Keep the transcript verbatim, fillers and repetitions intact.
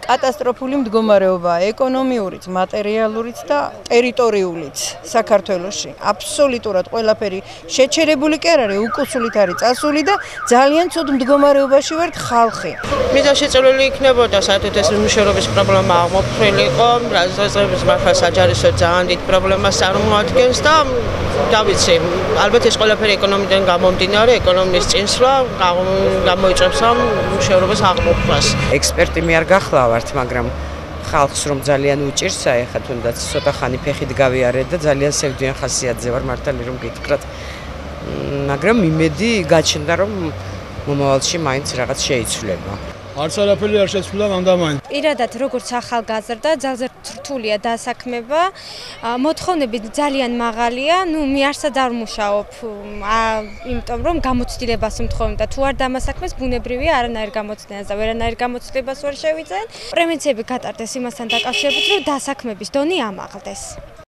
კატასტროფული მდგომარეობაა ეკონომიურიც, მატერიალურიც და ტერიტორიულიც საქართველოში. აბსოლუტურად ყველაფერი შეჩერებული კი არ არის, უკუსულით არის წასული და ძალიან ცუდ მდგომარეობაში ვართ ხალხი. მიზანშეწონილი იქნებოდა საერთოდ ეს მშენებლობის პრობლემა აღმოფხვრილიყო, რაზეც მართლა საჯარისო ძალიან დიდ პრობლემას წარმოადგენს და დავიცი, ალბათ ეს ყველაფერი ეკონომიკიდან გამომდინარე, ეკონომიკის წინსვლა გამოიწვევს ამ მშენებლობის აღმოფხვას. ექსპერტი მე არ გახლავართ, მაგრამ ხალხს რომ ძალიან უჭირს, აი ხა თუნდაც ცოტა ხანი ფეხით გავიარე და ძალიან სევდიან ხასიათზე ვარ მართალი რომ გითხრათ. მაგრამ იმედი გაჩნდა რომ მომავალში მაინც რაღაც შეიცვლება. არც არაფერი არ შეცვლა მანდამაინც. პირადად როგორც ახალგაზრდა ძალზე რთულია დასაქმება, მოთხოვნები ძალიან მაღალია, ნუ მე არსად არ ვმუშაობ, იმიტომ რომ გამოცდილებას ვმთხოვენ და თუ არ დამასაქმეს ბუნებრივია არანაირ გამოცდილებას და ვერანაირ გამოცდილებას ვერ შევიძენ. პრევენციები გატარდეს იმასთან დაკავშირებით, რომ დასაქმების დონე ამაღლდეს.